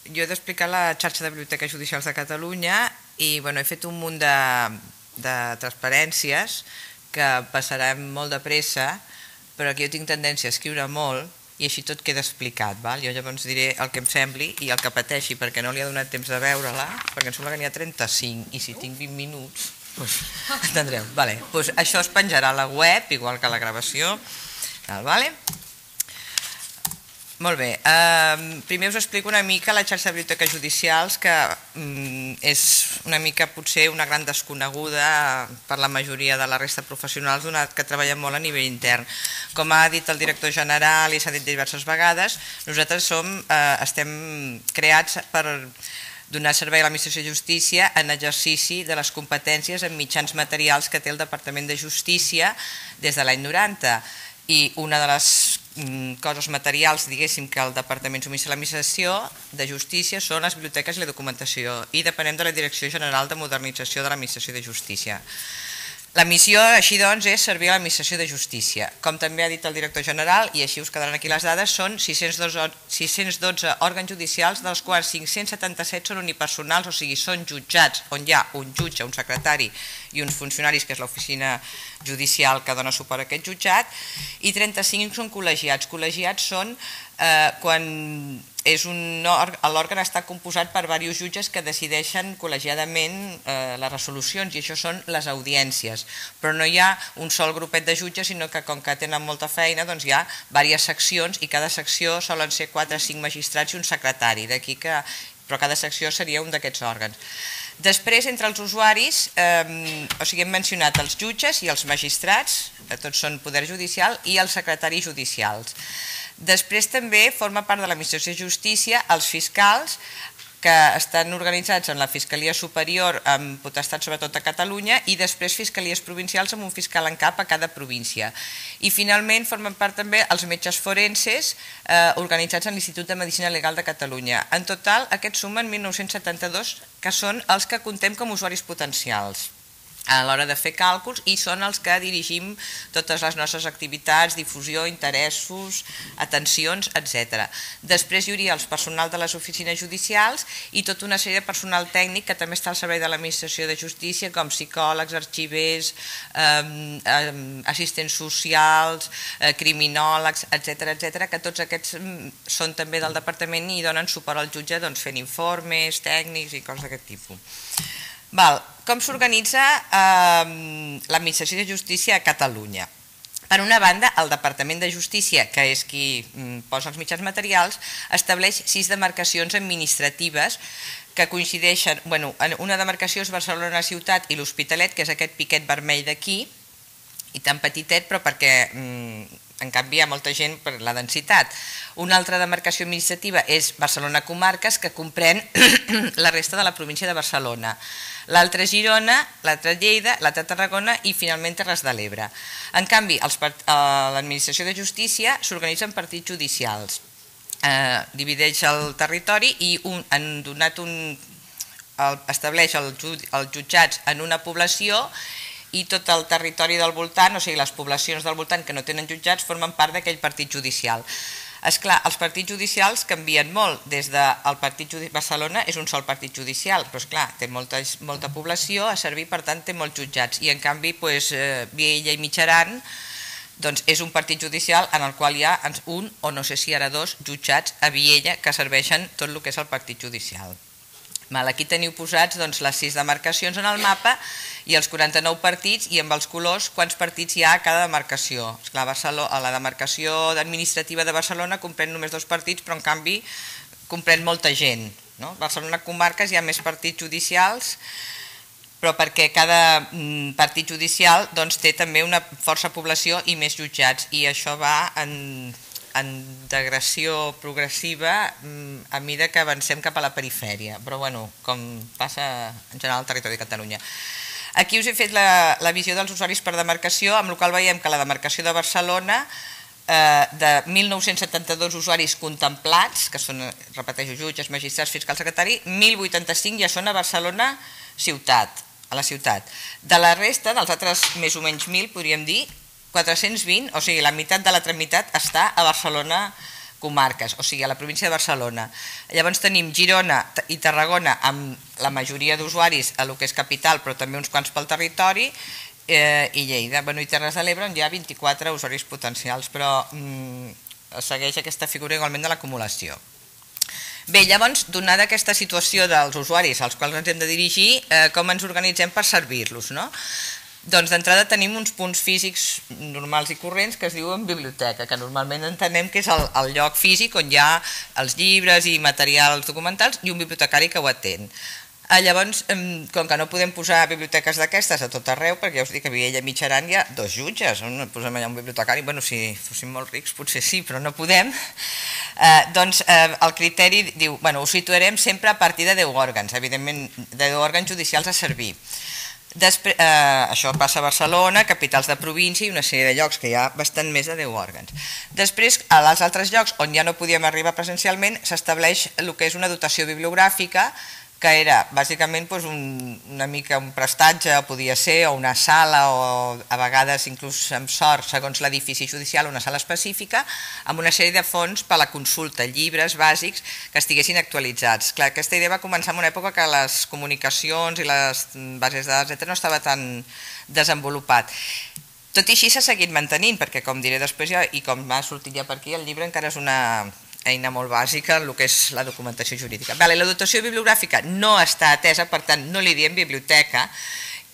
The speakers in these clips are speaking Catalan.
Jo he d'explicar la xarxa de biblioteques judicials de Catalunya i he fet un munt de transparències que passarem molt de pressa, però que jo tinc tendència a escriure molt i així tot queda explicat. Jo llavors diré el que em sembli i el que pateixi, perquè no li ha donat temps de veure-la, perquè em sembla que n'hi ha 35 i si tinc 20 minuts entendreu. Això es penjarà a la web, igual que la gravació. Molt bé, primer us explico una mica la xarxa de biblioteques judicials, que és una mica potser una gran desconeguda per la majoria de la resta de professionals, donat que treballem molt a nivell intern. Com ha dit el director general i s'ha dit diverses vegades, nosaltres estem creats per donar servei a l'Administració de Justícia en exercici de les competències en mitjans materials que té el Departament de Justícia des de l'any 90. I una de les coses materials, diguéssim, que el Departament subministra a l'Administració de Justícia són les biblioteques i la documentació, i depenem de la Direcció General de Modernització de l'Administració de Justícia. La missió, així doncs, és servir a l'Administració de Justícia. Com també ha dit el director general, i així us quedaran aquí les dades, són 612 òrgans judicials, dels quals 577 són unipersonals, o sigui, són jutjats on hi ha un jutge, un secretari i uns funcionaris, que és l'oficina judicial que dona suport a aquest jutjat, i 35 són col·legiats. Col·legiats són quan l'òrgan està composat per diversos jutges que decideixen col·legiadament les resolucions, i això són les audiències. Però no hi ha un sol grupet de jutges, sinó que com que tenen molta feina hi ha diverses seccions, i cada secció solen ser 4 o 5 magistrats i un secretari, però cada secció seria un d'aquests òrgans. Després, entre els usuaris, hem mencionat els jutges i els magistrats, tots són poder judicial, i els secretaris judicials. Després també forma part de l'Administració de Justícia els fiscals, que estan organitzats en la Fiscalia Superior amb potestat sobretot a Catalunya, i després fiscalies provincials amb un fiscal en cap a cada província. I finalment formen part també els metges forenses organitzats en l'Institut de Medicina Legal de Catalunya. En total aquests sumen 1.972, que són els que contem com usuaris potencials a l'hora de fer càlculs, i són els que dirigim totes les nostres activitats, difusió, interessos, atencions, etc. Després hi hauria el personal de les oficines judicials i tota una sèrie de personal tècnic que també està al servei de l'Administració de Justícia, com psicòlegs, arxivers, assistents socials, criminòlegs, etc., que tots aquests són també del departament i donen suport al jutge fent informes tècnics i coses d'aquest tipus. Com s'organitza l'Administració de Justícia a Catalunya? Per una banda, el Departament de Justícia, que és qui posa els mitjans materials, estableix 6 demarcacions administratives que coincideixen. Una demarcació és Barcelona Ciutat i l'Hospitalet, que és aquest piquet vermell d'aquí, i tan petitet, però perquè en canvi hi ha molta gent per la densitat. Una altra demarcació administrativa és Barcelona Comarques, que comprèn la resta de la província de Barcelona. L'altra Girona, l'altra Lleida, l'altra Tarragona i finalment Terres de l'Ebre. En canvi, l'Administració de Justícia s'organitza en partits judicials. Divideix el territori i estableix els jutjats en una població, i tot el territori del voltant, o sigui les poblacions del voltant que no tenen jutjats, formen part d'aquell partit judicial. Esclar, els partits judicials canvien molt. Des del partit de Barcelona és un sol partit judicial, però esclar, té molta població a servir, per tant té molts jutjats, i en canvi Viella i Mitjaran és un partit judicial en el qual hi ha un, o no sé si ara 2, jutjats a Viella que serveixen tot el que és el partit judicial. Aquí teniu posats les 6 demarcacions en el mapa i els 49 partits, i amb els colors quants partits hi ha a cada demarcació. A la demarcació administrativa de Barcelona comprèn només 2 partits, però en canvi comprèn molta gent. A Barcelona Comarques hi ha més partits judicials, però perquè cada partit judicial té també una força població i més jutjats, i això va en degradació progressiva a mesura que avancem cap a la perifèria, però com passa en general al territori de Catalunya. Aquí us he fet la visió dels usuaris per demarcació, amb la qual veiem que la demarcació de Barcelona, de 1.972 usuaris contemplats, que són, repeteixo, jutges, magistrats, fiscals, secretari, 1.085 ja són a Barcelona ciutat, a la ciutat. De la resta, dels altres més o menys 1.000, podríem dir, 420, o sigui, la meitat de l'altra meitat està a Barcelona comarques, o sigui, a la província de Barcelona. Llavors tenim Girona i Tarragona amb la majoria d'usuaris a lo que és capital, però també uns quants pel territori, i Lleida. I Terres de l'Ebre on hi ha 24 usuaris potencials, però segueix aquesta figura igualment de l'acumulació. Bé, llavors, donada aquesta situació dels usuaris als quals ens hem de dirigir, com ens organitzem per servir-los, no? Doncs d'entrada tenim uns punts físics normals i corrents que es diuen biblioteca, que normalment entenem que és el lloc físic on hi ha els llibres i materials documentals i un bibliotecari que ho atén. Llavors, com que no podem posar biblioteques d'aquestes a tot arreu, perquè ja us dic que a Viella i Mitjaran hi ha 2 jutges, no posem allà un bibliotecari, bueno, si fóssim molt rics potser sí, però no podem, doncs el criteri diu, bueno, ho situarem sempre a partir de 10 òrgans, evidentment de 10 òrgans judicials a servir. Això passa a Barcelona, capitals de província i una sèrie de llocs que hi ha bastant més de 10 òrgans. Després, als altres llocs on ja no podíem arribar presencialment, s'estableix el que és una dotació bibliogràfica, que era bàsicament una mica un prestatge, podia ser, o una sala, o a vegades inclús amb sort, segons l'edifici judicial, una sala específica, amb una sèrie de fons per a la consulta, llibres bàsics que estiguessin actualitzats. Clar, aquesta idea va començar en una època que les comunicacions i les bases de dades, etc., no estava tan desenvolupat. Tot i així s'ha seguit mantenint, perquè com diré després i com m'ha sortit ja per aquí, el llibre encara és una eina molt bàsica en el que és la documentació jurídica. La dotació bibliogràfica no està atesa, per tant no li diem biblioteca,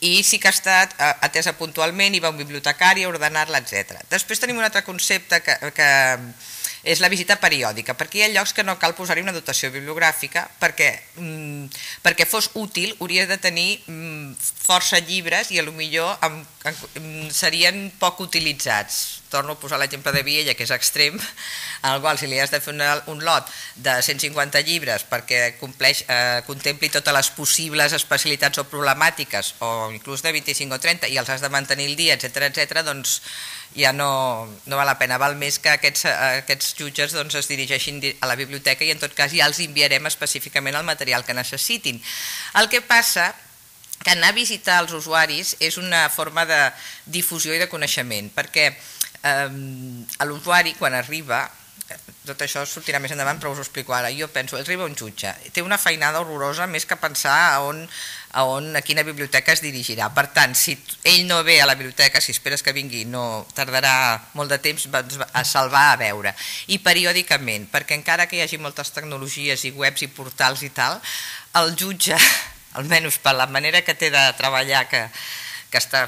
i sí que ha estat atesa puntualment, hi va un bibliotecari a ordenar-la, etc. Després tenim un altre concepte que és la visita periòdica, perquè hi ha llocs que no cal posar-hi una dotació bibliogràfica perquè fos útil hauria de tenir força llibres i potser serien poc utilitzats. Torno a posar l'exemple de Viella, que és extrem, en el qual si li has de fer un lot de 150 llibres perquè contempli totes les possibles especialitats o problemàtiques, o inclús de 25 o 30, i els has de mantenir el dia, etc., doncs ja no val la pena. Val més que aquests jutges es dirigeixin a la biblioteca i en tot cas ja els enviarem específicament el material que necessitin. El que passa que anar a visitar els usuaris és una forma de difusió i de coneixement, perquè l'usuari quan arriba, tot això sortirà més endavant però us ho explico ara, jo penso, arriba un jutge, té una feinada horrorosa més que pensar a quina biblioteca es dirigirà. Per tant, si ell no ve a la biblioteca, si esperes que vingui, no tardarà molt de temps a salvar a veure. I periòdicament, perquè encara que hi hagi moltes tecnologies i webs i portals i tal, el jutge, almenys per la manera que té de treballar, que està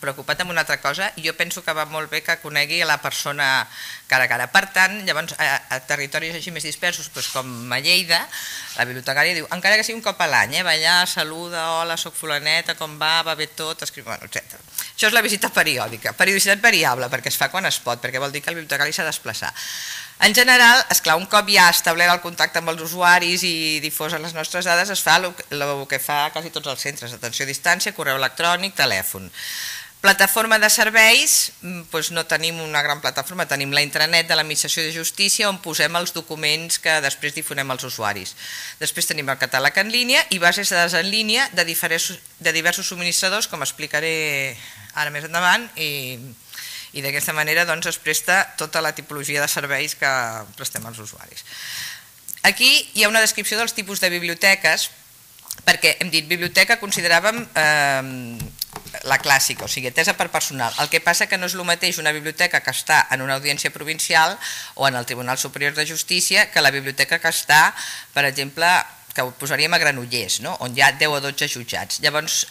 preocupat amb una altra cosa, i jo penso que va molt bé que conegui la persona cara a cara. Per tant, llavors, a territoris així més dispersos, com a Lleida, la bibliotecària diu, encara que sigui un cop a l'any, va allà, saluda, hola, soc fulaneta, com va bé tot, etc. Això és la visita periòdica. Periodicitat variable, perquè es fa quan es pot, perquè vol dir que el bibliotecari s'ha de desplaçar. En general, esclar, un cop ja establert el contacte amb els usuaris i difosen les nostres dades, es fa el que fa quasi tots els centres, atenció a distància, correu electrònic, telèfon. Plataforma de serveis, no tenim una gran plataforma, tenim la intranet de l'Administració de Justícia on posem els documents que després difonem als usuaris. Després tenim el catàleg en línia i bases de dades en línia de diversos subministradors, com explicaré ara més endavant, i d'aquesta manera es presta tota la tipologia de serveis que prestem als usuaris. Aquí hi ha una descripció dels tipus de biblioteques, perquè hem dit biblioteca consideràvem la clàssica, o sigui, atesa per personal. El que passa que no és el mateix una biblioteca que està en una audiència provincial o en el Tribunal Superior de Justícia que la biblioteca que està, per exemple, que ho posaríem a Granollers, on hi ha 10 o 12 jutjats. Llavors,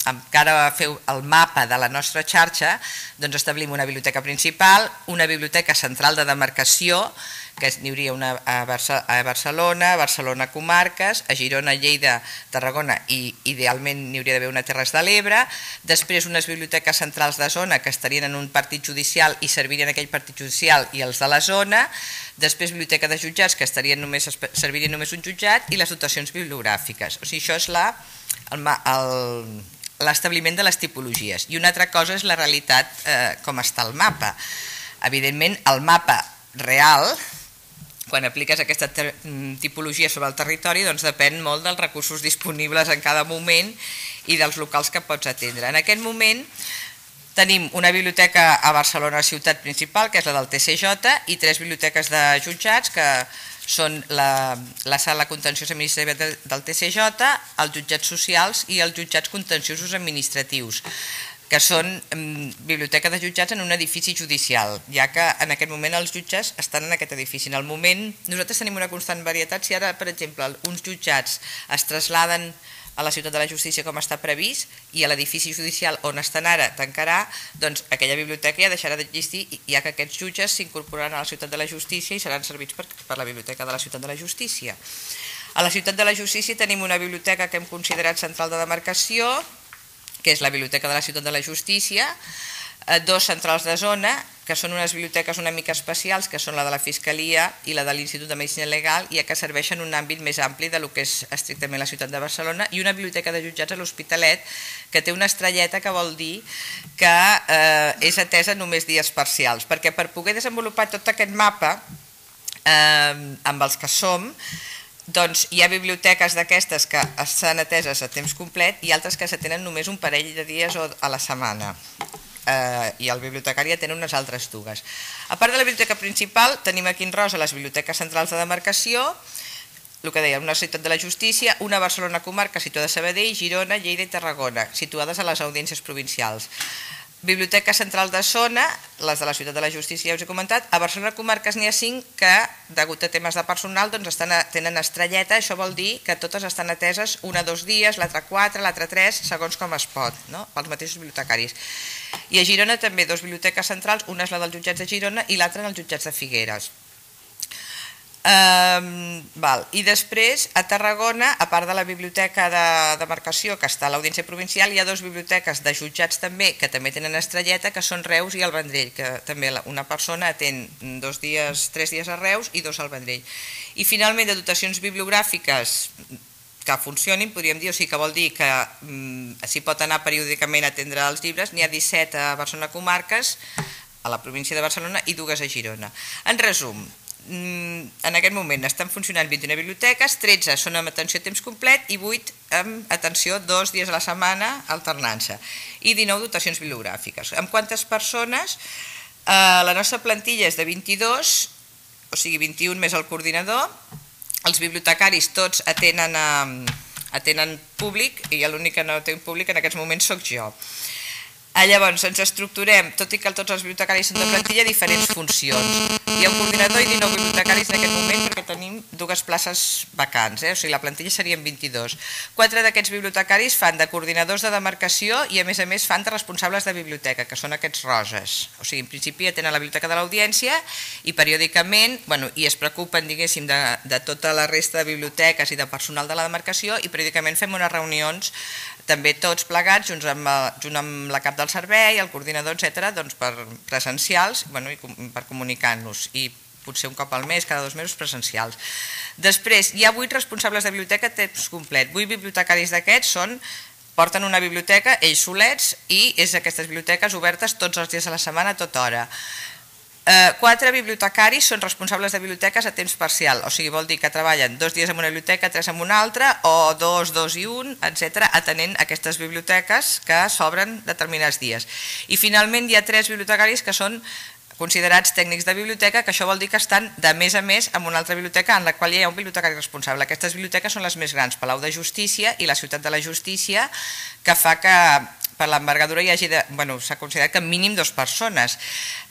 encara a fer el mapa de la nostra xarxa, establim una biblioteca principal, una biblioteca central de demarcació, que n'hi hauria una a Barcelona, Barcelona comarques, a Girona, Lleida, Tarragona i idealment n'hi hauria d'haver una a Terres de l'Ebre, després unes biblioteques centrals de zona que estarien en un partit judicial i servirien aquell partit judicial i els de la zona, després biblioteca de jutjats que servirien només un jutjat i les dotacions bibliogràfiques. O sigui, això és l'establiment de les tipologies. I una altra cosa és la realitat, com està el mapa. Evidentment, el mapa real, quan apliques aquesta tipologia sobre el territori, depèn molt dels recursos disponibles en cada moment i dels locals que pots atendre. En aquest moment Tenim una biblioteca a Barcelona ciutat principal, que és la del TCJ, i 3 biblioteques de jutjats, que són la sala contenciosa administrativa del TCJ, els jutjats socials i els jutjats contenciosos administratius, que són biblioteca de jutjats en un edifici judicial, ja que en aquest moment els jutges estan en aquest edifici. En el moment, nosaltres tenim una constant varietat. Si ara, per exemple, uns jutjats es trasladen a la ciutat de la justícia com està previst i a l'edifici judicial on estan ara tancarà, doncs aquella biblioteca ja deixarà d'existir, ja que aquests jutges s'incorporaran a la ciutat de la justícia i seran servits per la biblioteca de la ciutat de la justícia. A la ciutat de la justícia tenim una biblioteca que hem considerat central de demarcació, que és la biblioteca de la ciutat de la justícia, 2 centrals de zona, que són unes biblioteques una mica especials, que són la de la Fiscalia i la de l'Institut de Medicina Legal, ja que serveixen un àmbit més ampli del que és estrictament la ciutat de Barcelona, i una biblioteca de jutjats a l'Hospitalet, que té una estrelleta, que vol dir que és atesa només dies parcials, perquè per poder desenvolupar tot aquest mapa amb els que som, doncs hi ha biblioteques d'aquestes que estan ateses a temps complet i altres que s'atenen només un parell de dies a la setmana. I el bibliotecari atén unes altres dues. A part de la biblioteca principal, tenim aquí en rosa les biblioteques centrals de demarcació, el que deia, una ciutat de la justícia, una Barcelona comarca situada a Sabadell, Girona, Lleida i Tarragona, situades a les audiències provincials. Biblioteca central de zona, les de la ciutat de la justícia ja us he comentat. A Barcelona comarques n'hi ha 5 que, degut a temes de personal, tenen estrelleta. Això vol dir que totes estan ateses una 2 dies, l'altra 4, l'altra 3, segons com es pot, pels mateixos bibliotecaris. I a Girona també 2 biblioteques centrals, una és la dels jutjats de Girona i l'altra en els jutjats de Figueres. I després a Tarragona, a part de la biblioteca de demarcació que està a l'Audiència Provincial, hi ha 2 biblioteques de jutjats també que també tenen estrelleta, que són Reus i el Vendrell, que també una persona atén 3 dies a Reus i 2 al Vendrell. I finalment de dotacions bibliogràfiques que funcionin, podríem dir, o sigui que vol dir que s'hi pot anar periòdicament a atendre els llibres, n'hi ha 17 a Barcelona comarques, a la província de Barcelona, i 2 a Girona. En resum, en aquest moment estan funcionant 21 biblioteques, 13 són amb atenció a temps complet i 8 amb atenció 2 dies a la setmana alternant-se, i 19 dotacions bibliogràfiques. Amb quantes persones? La nostra plantilla és de 22, o sigui 21 més el coordinador. Els bibliotecaris tots atenen públic i l'únic que no té un públic en aquests moments sóc jo. Llavors ens estructurem, tot i que tots els bibliotecaris són de plantilla, diferents funcions. Hi ha un coordinador i 19 bibliotecaris en aquest moment perquè tenim 2 places vacants, o sigui la plantilla serien 22. 4 d'aquests bibliotecaris fan de coordinadors de demarcació i a més fan de responsables de biblioteca, que són aquests roses. O sigui, en principi tenen la biblioteca de l'Audiència i periòdicament, i es preocupen, diguéssim, de tota la resta de biblioteques i de personal de la demarcació, i periòdicament fem unes reunions també tots plegats, junt amb la cap del servei, el coordinador, etc., per presencials i per comunicar-nos, i potser un cop al mes, cada 2 mesos presencials. Després, hi ha 8 responsables de biblioteca a temps complet. 8 bibliotecaris d'aquests porten una biblioteca ells solets i és aquestes biblioteques obertes tots els dies a la setmana, a tota hora. 4 bibliotecaris són responsables de biblioteques a temps parcial, o sigui, vol dir que treballen 2 dies en una biblioteca, 3 en una altra, o 2, 2 i 1, etc., atenent aquestes biblioteques que s'obren determinats dies. I finalment hi ha 3 bibliotecaris que són considerats tècnics de biblioteca, que això vol dir que estan de mes a mes en una altra biblioteca en la qual hi ha un bibliotecari responsable. Aquestes biblioteques són les més grans, Palau de Justícia i la Ciutat de la Justícia, que fa que per l'envergadura hi hagi, s'ha considerat que mínim 2 persones.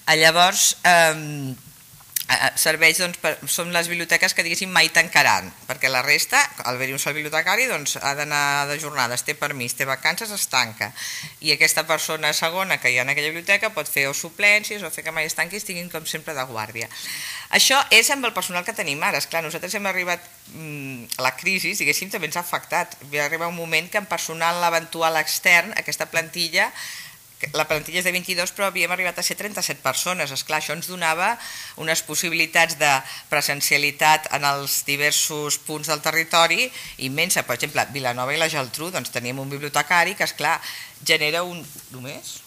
Llavors, serveis, són les biblioteques que diguéssim mai tancaran, perquè la resta, al haver-hi un sol bibliotecari, ha d'anar de jornades, té permís, té vacances, es tanca. I aquesta persona segona que hi ha en aquella biblioteca pot fer o suplències o fer que mai es tanqui i estiguin com sempre de guàrdia. Això és amb el personal que tenim ara. Esclar, nosaltres hem arribat a la crisi, diguéssim, també ens ha afectat. Va arribar un moment que amb personal eventual extern, aquesta plantilla, la plantilla és de 22, però havíem arribat a ser 37 persones. Esclar, això ens donava unes possibilitats de presencialitat en els diversos punts del territori immensa. Per exemple, a Vilanova i la Geltrú teníem un bibliotecari que, esclar, genera un... Només?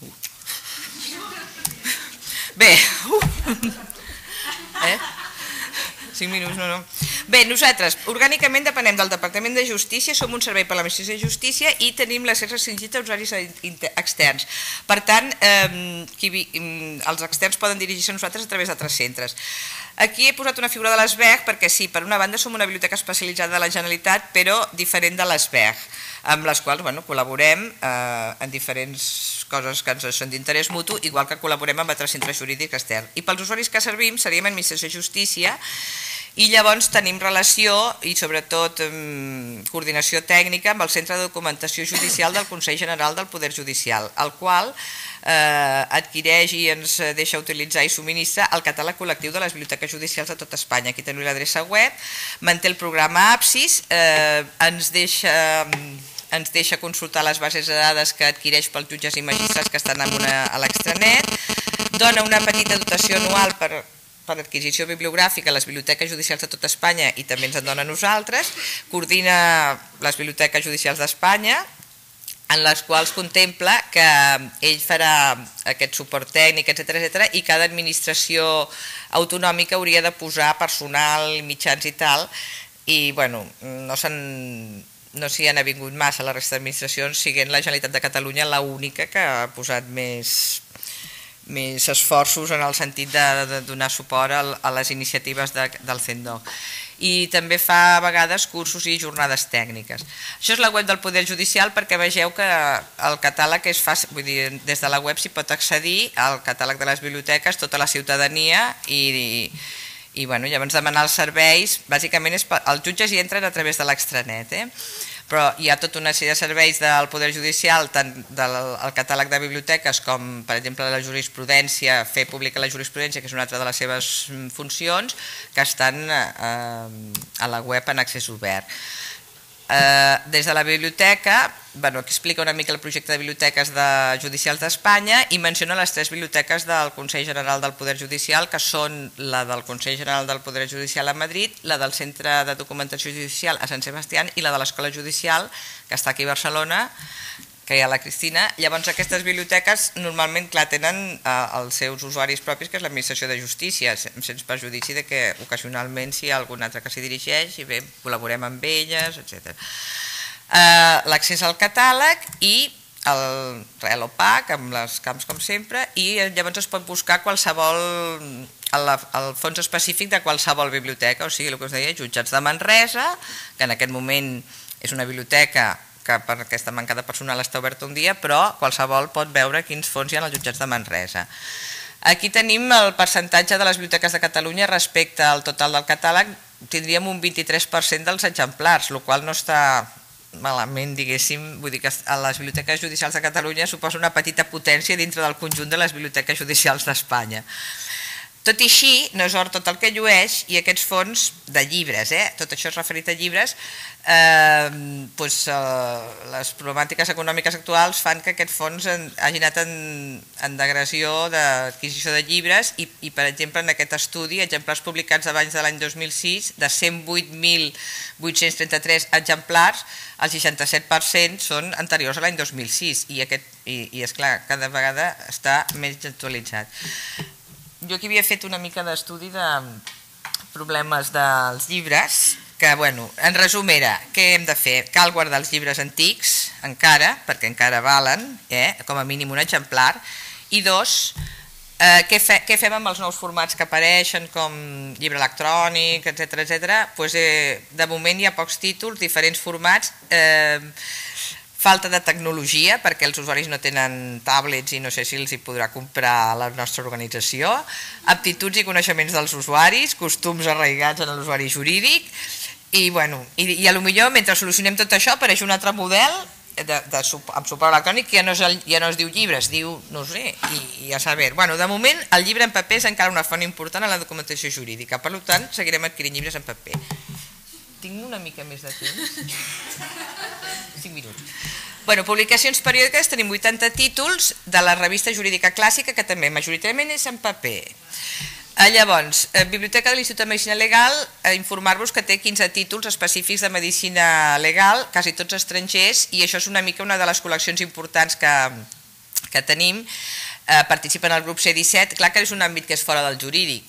Bé, 5 minuts, no. Bé, nosaltres orgànicament depenem del Departament de Justícia, som un servei per a l'Administració de Justícia i tenim l'accés restringit a usuaris externs. Per tant, els externs poden dirigir-se a nosaltres a través d'altres centres. Aquí he posat una figura de l'ESBEG perquè sí, per una banda som una biblioteca especialitzada de la Generalitat, però diferent de l'ESBEG, amb les quals col·laborem en diferents coses que ens són d'interès mutu, igual que col·laborem amb altres centres jurídics externs. I pels usuaris que servim seríem Administració de Justícia i llavors tenim relació i sobretot coordinació tècnica amb el Centre de Documentació Judicial del Consell General del Poder Judicial, el qual adquireix i ens deixa utilitzar i subministra el catàleg col·lectiu de les biblioteques judicials de tot Espanya. Aquí tenim l'adreça web, manté el programa Apsis, ens deixa consultar les bases de dades que adquireix pels jutges i magistrats que estan a l'extranet, dona una petita dotació anual per adquisició bibliogràfica a les biblioteques judicials de tot Espanya i també ens en dona a nosaltres, coordina les biblioteques judicials d'Espanya, en les quals contempla que ell farà aquest suport tècnic, etc. i cada administració autonòmica hauria de posar personal, mitjans i tal, i bueno, no s'hi han avingut massa la resta d'administracions, siguent la Generalitat de Catalunya l'única que ha posat més esforços en el sentit de donar suport a les iniciatives del CENDOC. I també fa a vegades cursos i jornades tècniques. Això és la web del Poder Judicial perquè vegeu que el catàleg és fàcil, vull dir, des de la web s'hi pot accedir al catàleg de les biblioteques, tota la ciutadania i llavors demanar els serveis, bàsicament els jutges hi entren a través de l'extranet, però hi ha tota una sèrie de serveis del Poder Judicial, tant del catàleg de biblioteques com, per exemple, la jurisprudència, fer pública la jurisprudència, que és una altra de les seves funcions, que estan a la web en accés obert. Des de la biblioteca, aquí explica una mica el projecte de biblioteques judicials d'Espanya i menciona les 3 biblioteques del Consell General del Poder Judicial, que són la del Consell General del Poder Judicial a Madrid, la del Centre de Documentació Judicial a Sant Sebastián i la de l'Escola Judicial, que està aquí a Barcelona, que hi ha la Cristina. Llavors aquestes biblioteques normalment tenen els seus usuaris propis, que és l'Administració de Justícia, sense perjudici que ocasionalment si hi ha algun altre que s'hi dirigeix i bé, col·laborem amb elles, etc. L'accés al catàleg i el real opac amb les camps com sempre i llavors es pot buscar el fons específic de qualsevol biblioteca, o sigui, el que us deia, Jutjats de Manresa, que en aquest moment és una biblioteca que per aquesta manca de personal està oberta un dia, però qualsevol pot veure quins fons hi ha als Jutjats de Manresa. Aquí tenim el percentatge de les biblioteques de Catalunya respecte al total del catàleg, tindríem un 23% dels exemplars, el qual no està malament, diguéssim, vull dir que a les biblioteques judicials de Catalunya suposa una petita potència dintre del conjunt de les biblioteques judicials d'Espanya. Tot i així, no és or tot el que llueix i aquests fons de llibres, tot això és referit a llibres, les problemàtiques econòmiques actuals fan que aquest fons hagi anat en degressió d'adquisició de llibres i, per exemple, en aquest estudi, exemplars publicats abans de l'any 2006, de 108.833 exemplars, el 67% són anteriors a l'any 2006 i, esclar, cada vegada està més actualitzat. Jo aquí havia fet una mica d'estudi de problemes dels llibres, que, en resum era, què hem de fer? Cal guardar els llibres antics, encara, perquè encara valen, com a mínim un exemplar, i 2, què fem amb els nous formats que apareixen, com llibre electrònic, etc. De moment hi ha pocs títols, diferents formats, falta de tecnologia, perquè els usuaris no tenen tablets i no sé si els hi podrà comprar la nostra organització, aptituds i coneixements dels usuaris, costums arraigats en l'usuari jurídic, i potser mentre solucionem tot això apareix un altre model amb suport electrònic que ja no es diu llibre, es diu, no sé, i a saber. De moment el llibre en paper és encara una font important en la documentació jurídica, per tant seguirem adquirint llibres en paper. Tinc una mica més de temps? 5 minuts. Publicacions periòdiques, tenim 80 títols de la revista jurídica clàssica, que també majoritàriament és en paper. Llavors, Biblioteca de l'Institut de Medicina Legal, informar-vos que té 15 títols específics de medicina legal, quasi tots estrangers, i això és una mica una de les col·leccions importants que tenim. participen al grup C17, clar que és un àmbit que és fora del jurídic,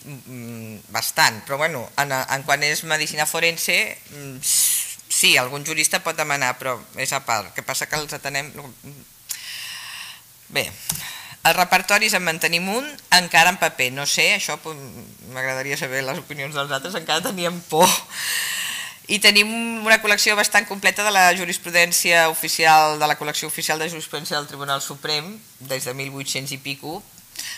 bastant, però bueno, en quan és medicina forense, sí, algun jurista pot demanar, però és a part, el que passa que els atenem... Bé, els repertoris en mantenim un, encara en paper, no sé, això m'agradaria saber les opinions dels altres, encara teníem por. I tenim una col·lecció bastant completa de la jurisprudència oficial, de la col·lecció oficial de jurisprudència del Tribunal Suprem, des de 1800 i pico.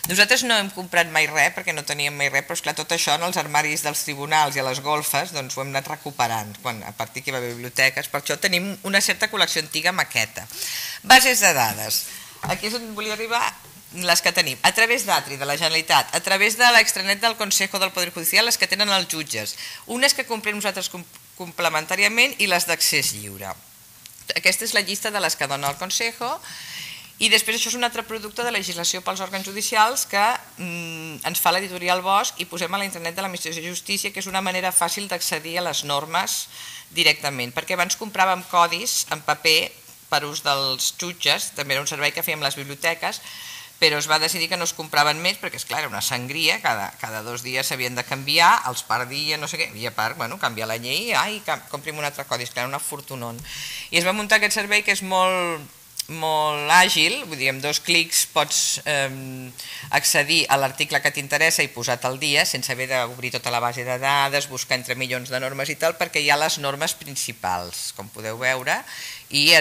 Nosaltres no hem comprat mai res, perquè no teníem mai res, però esclar, tot això en els armaris dels tribunals i a les golfes doncs ho hem anat recuperant, a partir que hi va haver biblioteques, per això tenim una certa col·lecció antiga maqueta. Bases de dades, aquí és on volia arribar, les que tenim, a través d'Atri, de la Generalitat, a través de l'extranet del Consejo del Poder Judicial, les que tenen els jutges, unes que comprem nosaltres complementàriament i les d'accés lliure. Aquesta és la llista de les que dona el Consejo i després això és un altre producte de legislació pels òrgans judicials que ens fa l'editorial Bosch i posem a l'internet de l'Administració de Justícia, que és una manera fàcil d'accedir a les normes directament, perquè abans compràvem codis en paper per ús dels jutges, també era un servei que fèiem les biblioteques, però es va decidir que no es compraven més perquè, esclar, era una sangria, cada 2 dies s'havien de canviar, els perdia, no sé què, i a part, canviar la llei, comprim un altre codi, esclar, una fortunón. I es va muntar aquest servei que és molt àgil, vull dir, amb 2 clics pots accedir a l'article que t'interessa i posar-te al dia sense haver d'obrir tota la base de dades, buscar entre milions de normes i tal, perquè hi ha les normes principals, com podeu veure, i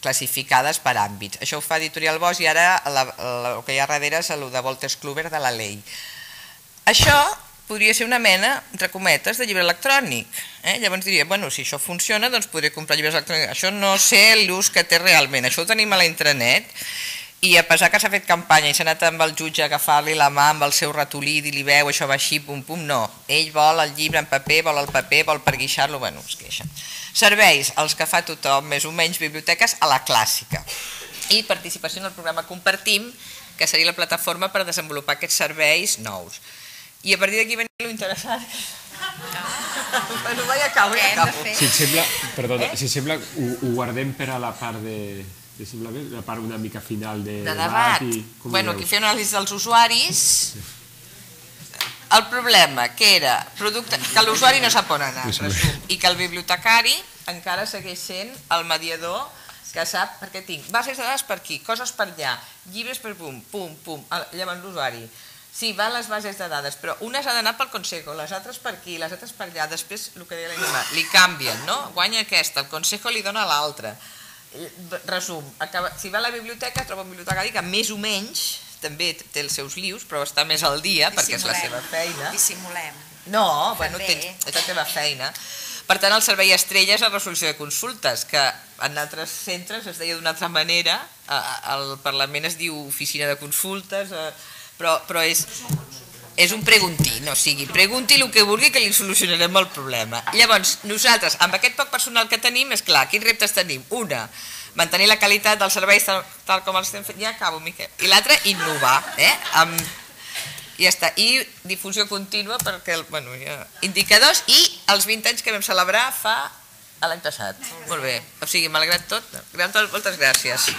classificades per àmbits. Això ho fa Editorial Bosch i ara el que hi ha darrere és el de Wolters Kluwer de la llei. Això podria ser una mena, entre cometes, de llibre electrònic. Llavors diria, bueno, si això funciona, doncs podré comprar llibres electrònics. Això no sé l'ús que té realment, això ho tenim a la intranet i a pesar que s'ha fet campanya i s'ha anat amb el jutge a agafar-li la mà amb el seu ratolí i dir-li veu, això va així, pum pum, no. Ell vol el llibre en paper, vol el paper, vol per guixar-lo, bueno, es queixa. Serveis, els que fa tothom, més o menys biblioteques, a la clàssica. I participació en el programa Compartim, que seria la plataforma per desenvolupar aquests serveis nous. I a partir d'aquí venia l'interessant. Bueno, vaig acabo. Si et sembla, perdona, si et sembla, ho guardem per a la part de... la part una mica final de debat. Bueno, aquí feia una anàlisi dels usuaris. El problema que era que l'usuari no sap on anar i que el bibliotecari encara segueix sent el mediador que sap perquè tinc bases de dades per aquí, coses per allà, llibres per pum, pum, pum, llavors l'usuari. Sí, van les bases de dades, però unes ha d'anar pel Consejo, les altres per aquí, les altres per allà, després el que deia la Gemma, li canvien, no? Guanya aquesta, el Consejo li dona l'altra. Resum, si va a la biblioteca troba un bibliotecari que més o menys també té els seus lius, però està més al dia perquè és la seva feina. Dissimulem. No, bueno, és la teva feina. Per tant, el servei estrella és la resolució de consultes, que en altres centres es deia d'una altra manera, al Parlament es diu oficina de consultes, però és un preguntín, o sigui, pregunti el que vulgui que li solucionarem el problema. Llavors, nosaltres, amb aquest poc personal que tenim, és clar, quins reptes tenim? Una, mantenir la qualitat dels serveis tal com els estem fent, ja acabo, Miquel. I l'altre, innovar, ja està, i difusió contínua perquè, bueno, indicadors i els 20 anys que vam celebrar l'any passat. Molt bé, o sigui, malgrat tot, moltes gràcies.